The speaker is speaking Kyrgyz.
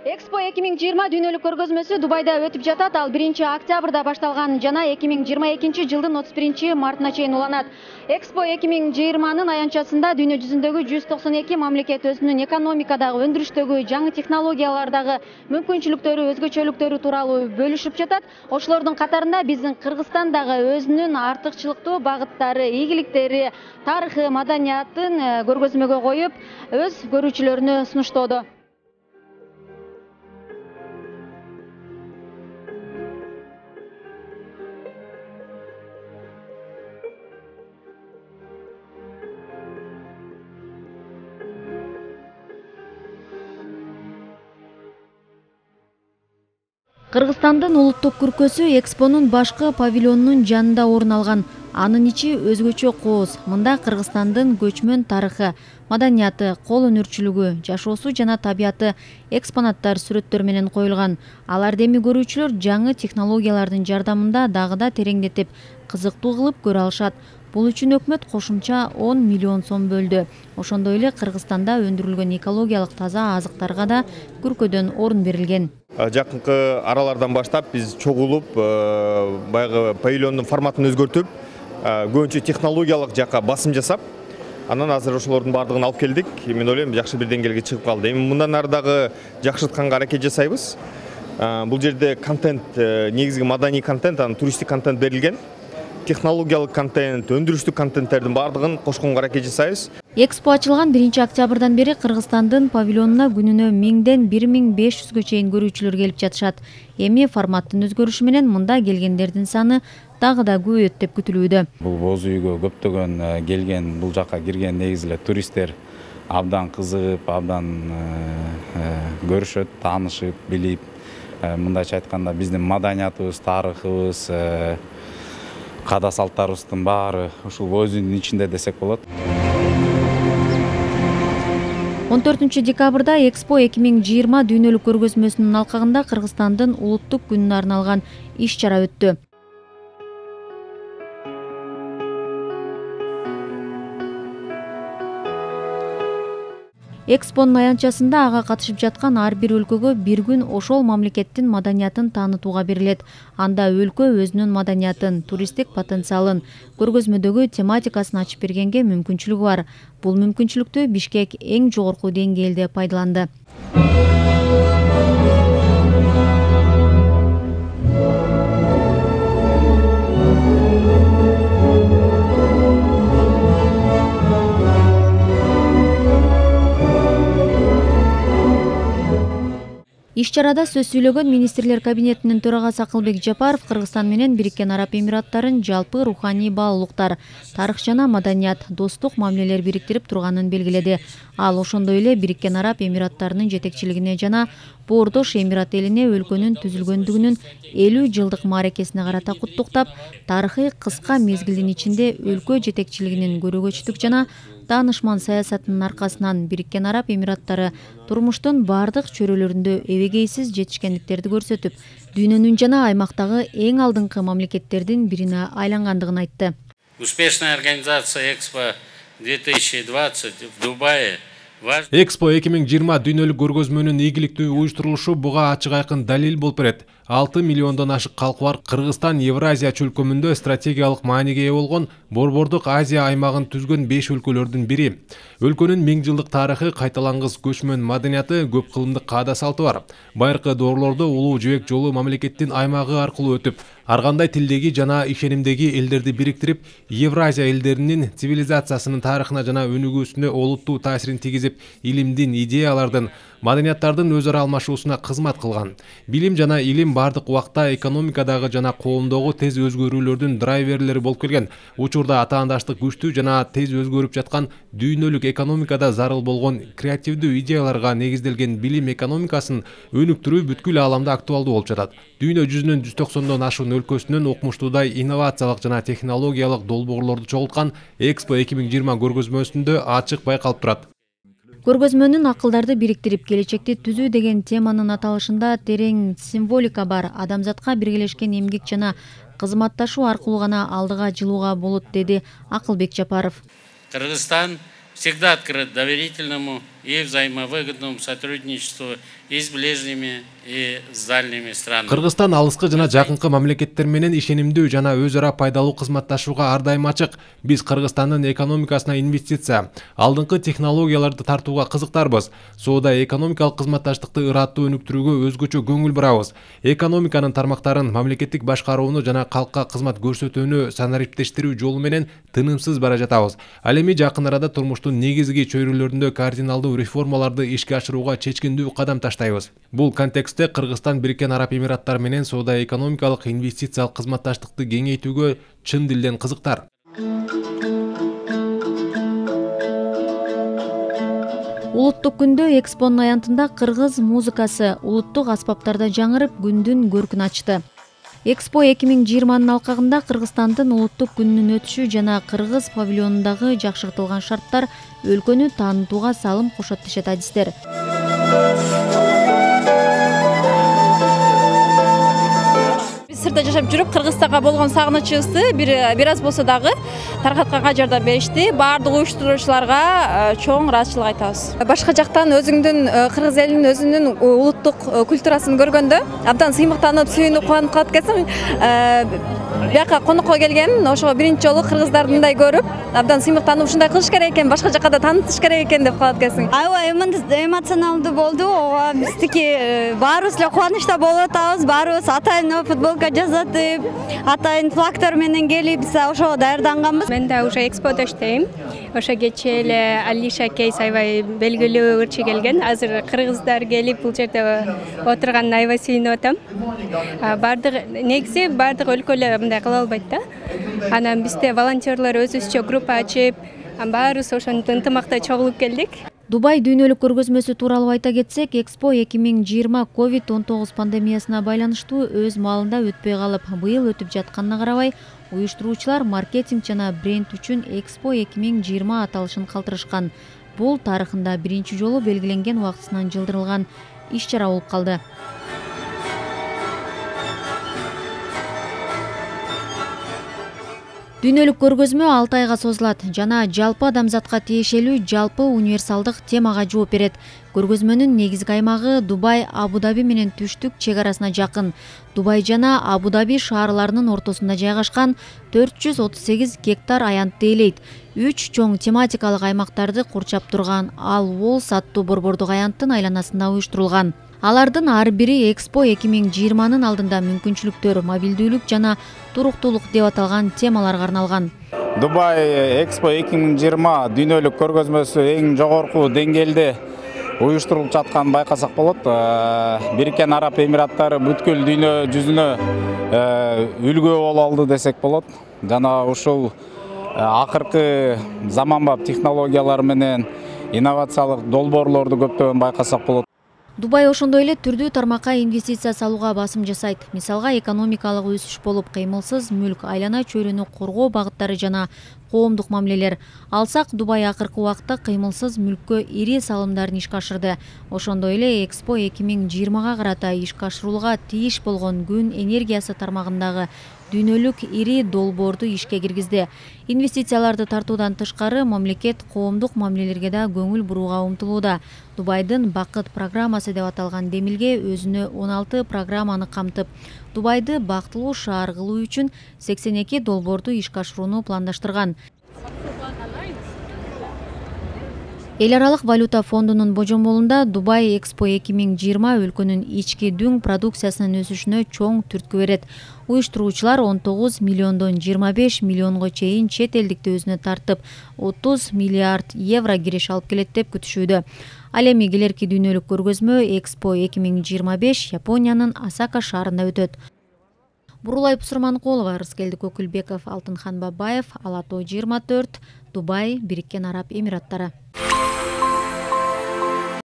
Экспо 2020 дүйнөлүк көргөзмөсү Дубайда өтүп жатат. Ал 1-октябрда башталган жана 2022-жылдын 31-мартына чейин уланат. Экспо 2020-нын аянтчасында дүйнө жүзүндөгү 192 мамлекет өзүнүн экономикадагы, өндүрүштөгү, жаңы технологиялардагы мүмкүнчүлүктөрү, өзгөчөлүктөрү тууралуу бөлүшүп жатат. Ошолордун катарында биздин Кыргызстан дагы өзүнүн артыкчылыктуу багыттары, ийгиликтери, тарыхы, маданиятын көргөзмөгө коюп, өз көрүүчүлөрүнө сунуштоодо. Кыргызстандын улуттук күркөсү Экспонун башкы павильонунун жанында орун алган. Анын ичи өзгөчө кооз. Мында Кыргызстандын көчмөн тарыхы, маданияты, кол өнөрчүлүгү, жашоосу жана табияты экспонаттар сүрөттөр менен коюлган. Аларды эми көрүүчүлөр жаңы технологиялардын жардамында дагы да тереңдетип, кызыктуу кылып көрө алышат. Бул үчүн өкмөт кошумча 10 миллион сом бөлдү. Ошондой эле Кыргызстанда өндүрүлгөн экологиялык таза азыктарга да күркөдөн орун берилген. Жакынкы аралардан баштап биз чогулуп, баягы павильондун форматын өзгөртүп, көбүнчө технологиялык жакка басым жасап, анан азыр ошолордун баардыгын алып келдик. Мен ойлойм, жакшы бир деңгээлге чыгып калды. Эми мындан ары дагы жакшыртканга аракет жасайбыз. Бул жерде контент, негизги маданий контент, анан туристтик контент берилген. Технологиялык контент, өндүрүштүк контенттердин баардыгын кошконго аракет жасайбыз. Экспо ачылган 1-октябрдан бери Кыргызстандын павильонуна күнүнө 1000ден 1500гө чейин көрүүчүлөр келип жатышат. Эми форматтын өзгөрүшү менен мында келгендердин саны дагы да көбөйөт деп күтүлүүдө. Бул боз үйгө көптөгөн келген, бул жакка кирген негизи эле туристтер абдан кызыгып, абдан көрүшөт, таанышып, билип, мындайча айтканда биздин маданиятыбыз, тарыхыбыз, када салттарыбыздын баары ушул боз үйдүн ичинде десек болот. 14-декабрда Экспо 2020 дүйнөлүк көргөзмөсүнүн алкагында Кыргызстандын улуттук күнүнө арналган иш-чара өттү. Экспонун аянтчасында ага катышып жаткан ар бир өлкөгө бир күн ошол мамлекеттин маданиятын таанытууга берилет. Анда өлкө өзүнүн маданиятын, туристтик потенциалын, көргөзмөдөгү тематикасын ачып бергенге мүмкүнчүлүгү бар. Бул мүмкүнчүлүктү Бишкек эң жогорку деңгээлде пайдаланды. Иш-чарада сөз сүйлөгөн министрлер кабинетинин төрагасы Акылбек Жапаров Кыргызстан менен Бириккен Араб Эмираттарын жалпы руханий баалуулуктар, тарых жана маданият, достук мамилелер бириктирип турганын белгиледи. Ал ошондой эле Бириккен Араб Эмираттарынын жетекчилигине жана Боордош Эмират элине өлкөнүн түзүлгөндүгүнүн 50 жылдык мааракесине карата куттуктап, тарыхый кыска мезгилдин ичинде өлкө жетекчилигинин көрөгөчтүк жана таанышман саясатынын аркасынан Бириккен Араб Эмираттары турмуштун бардык чөйрөлөрүндө эбегейсиз жетишкендиктерди көрсөтүп, дүйнөнүн жана аймактагы эң алдыңкы мамлекеттердин бирине айлангандыгын айтты. Успешная организация Экспо 2020 в Дубае. Экспо 2020 дүйнөлүк көргөзмөнүн ийгиликтүү уюштурулушу буга ачык айкын далил болуп берет. 6 миллиондон ашык калкы бар Кыргызстан Евразия чөлкөмүндө стратегиялык мааниге ээ болгон Борбордук Азия аймагын түзгөн 5 өлкөлөрдүн бири. Өлкөнүн 1000 жылдык тарыхы, кайталангыс көчмөн маданияты, көп кылымдык каада салты бар. Байыркы доорлордо улуу жибек жолу мамлекеттин аймагы аркылуу өтүп, ар кандай тилдеги жана ишенимдеги элдерди бириктирип, Евразия элдеринин цивилизациясынын тарыхына жана өнүгүүсүнө олуттуу таасирин тийгизип, илимдин, идеялардын, маданияттардын өз ара алмашуусуна кызмат кылган. Билим жана илим бардык убакта экономикадагы жана коомдогу тез өзгөрүүлөрдүн драйверлери болуп келген. Учурда атаандаштык күчтүү жана тез өзгөрүп жаткан дүйнөлүк экономикада зарыл болгон креативдүү идеяларга негизделген билим экономикасын өнүктүрүү бүткүл ааламда актуалдуу болуп жатат. Дүйнө жүзүнүн 190дон ашуун өлкөсүнөн окумуштуудай инновациялык жана технологиялык долбоорлорду чогулткан Экспо 2020 көргөзмөсүндө ачык байкалып турат. Көргөзмөнүн акылдарды бириктирип, келечекти түзүү деген теманын аталышында терең символика бар. Адамзатка биргелешкен эмгек жана кызматташуу аркылуу гана алдыга жылууга болот, деди Акылбек Жапаров. Кыргызстан всегда открыт доверительному и взаимовыгодному сотрудничеству и с ближними, и с дальними странами. Кыргызстан алыскы жана жакынкы мамлекеттер менен ишенимдүү жана өз ара пайдалуу кызматташууга ар дайым ачык. Биз Кыргызстандын экономикасына инвестиция, алдыңкы технологияларды тартууга кызыктарбыз. Соода экономикалык кызматташтыкты ыраттуу өнүктүрүүгө өзгөчө көңүл бурабыз. Экономиканын тармактарын мамлекеттик башкарууну жана калкка кызмат көрсөтүүнү санариптештирүү жолу менен тынымсыз бара жатабыз. Ал эми жакын арада турмуштун негизги чөйрөлөрүндө кардиналдуу реформаларды ишке ашырууга чечкиндүү кадам таштайбыз. Бул контекстте Кыргызстан Бириккен Араб Эмираттары менен соода экономикалык инвестициялык кызматташтыкты кеңейтүүгө чын дилден кызыктар. Улуттук күндө экспонун аянтында кыргыз музыкасы улуттук аспаптарда жаңырып күндүн көркүн ачты. Экспо 2020 алкагында Кыргызстандын улуттук күнүнүн өтүшү жана кыргыз павильонундагы жакшыртылган шарттар өлкөнү таанытууга салым кошот дешет адистер. Сыртта жашап жүрүп Кыргызстанга болгон сагынычыбызды бир аз болсо дагы таркатканга жардам беришти. Баардык уюштуруучуларга чоң ыраазычылык айтабыз. Башка жактан өзүңдүн кыргыз элинин өзүнүн улуттук культурасын көргөндө абдан сыймыктанып, сүйүнүп, кубанып калат экенсиң. Бияка конокко келген, ошого биринчи жолу кыргыздардындай көрүп, абдан сыймыктанып ушундай кылыш керек экен, башка жакка да таанытыш керек экен деп калат экенсиң. Аябай эмоционалдуу болду. Биздики баарыбыз эле кубанычта болуп атабыз. Баарыбыз атайын футболка жасатып, атайын флагтар менен келип, биз ошого даярданганбыз. Мен да уже эксподо иштейм. Ошо кечээ эле Алиша Кейс аябай белгилүү ырчы келген. Азыр кыргыздар келип бул жерде отурганына аябай сүйүнүп атам. Негизи баардык өлкөлөр мындай кыла албайт да. Анан бизде волонтерлор өзүбүзчө группа ачып, баарыбыз ошентип ынтымакта чогулуп келдик. Дубай дүйнөлүк көргөзмөсү тууралуу айта кетсек, Экспо 2020 COVID-19 пандемиясына байланыштуу өз маалында өтпөй калып, быйыл өтүп жатканына карабай, уюштуруучулар маркетинг жана бренд үчүн Экспо 2020 аталышын калтырышкан. Бул тарыхында биринчи жолу белгиленген убактысынан жылдырылган иш-чара болуп калды. Дүйнөлүк көргөзмө 6 айга созулат жана жалпы адамзатка тиешелүү жалпы универсалдык темага жооп берет. Көргөзмөнүн негизги аймагы Дубай, Абу-Даби менен түштүк чек арасына жакын. Дубай жана Абу-Даби шаарларынын ортосунда жайгашкан 438 гектар аянтты ээлейт. 3 чоң тематикалык аймактарды курчап турган Ал Уолс аттуу борбордук аянттын айланасында уюштурулган. Алардын ар бири Экспо 2020-нын алдында мүмкүнчүлүктөр, мобилдүүлүк жана туруктуулук деп аталган темаларга арналган. Дубай Экспо 2020 дүйнөлүк көргөзмөсү эң жогорку деңгээлде уюштурулуп жатканын байкасак болот. Бириккен Араб Эмираттары бүткүл дүйнө жүзүнө үлгү боло алды десек болот. Жана ушул акыркы заманбап технологиялар менен инновациялык долбоорлорду көптөгөн байкасак болот. Дубай ошондой эле түрдүү тармакка инвестиция салууга басым жасайт. Мисалга экономикалык өсүш болуп, кыймылсыз мүлк, айлана чөйрөнү коргоо багыттары жана коомдук мамилелер. Алсак, Дубай акыркы убакытта кыймылсыз мүлккө ири салымдарын ишке ашырды. Ошондой эле Экспо 2020-га карата ишке ашырууга тийиш болгон күн энергиясы тармагындагы дүйнөлүк ири долбоорду ишке киргизди. Инвестицияларды тартуудан тышкары мамлекет коомдук мамилелерге да көңүл бурууга умтулууда. Дубайдын Бакыт программасы деп аталган демилге өзүнө 16 программаны камтып, Дубайды бактылуу шаар кылуу үчүн 82 долбоорду ишке ашырууну пландаштырган. Эл аралык валюта фондунун божомолунда Дубай Экспо 2020 өлкөнүн ички дүң продукциясынын өсүшүнө чоң түрткү берет. Уюштуруучулар 19 миллиондон 25 миллионго чейин чет элдикти өзүнө тартып, 30 миллиард евро кириш алып келет деп күтүшүүдө. Ал эми келерки дүйнөлүк көргөзмө Экспо 2025 Япониянын Осака шаарында өтөт. Бурулай Пусурманкулова, Рыскелди Көкүлбеков, Алтынхан Бабаев, Ала Тоо 24, Дубай, Бириккен Араб Эмираттары.